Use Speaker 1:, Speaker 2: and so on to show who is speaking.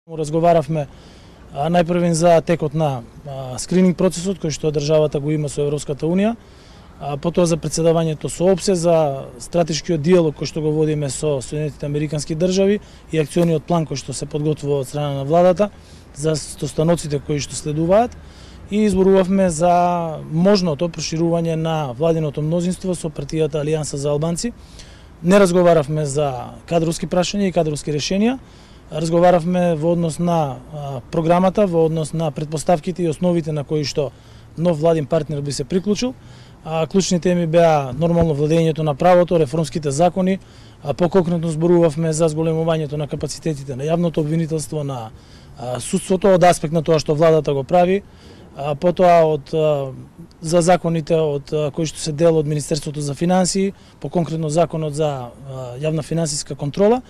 Speaker 1: Разговаравме најпрвен за текот на скрининг процесот кој што државата го има со Европската унија, потоа за председавањето со ОПСЕ, за стратешкиот диалог кој што го водиме со Соединетите Американски држави и акциониот план кој што се подготвува од страна на владата за стостаноците кои што следуваат, и изборувавме за можното проширување на владиното мнозинство со партијата Алијанса за албанци. Не разговаравме за кадровски прашања и кадровски решенија. Разговаравме во однос на програмата, во однос на претпоставките и основите на кои што нов владин партнер би се приклучил. Клучни теми беа нормално владењето на правото, реформските закони, поконкретно зборувавме за зголемувањето на капацитетите на јавното обвинителство, на судството од аспект на тоа што владата го прави, потоа за законите од кои што се дел од Министерството за финансии, поконкретно законот за јавна финансиска контрола.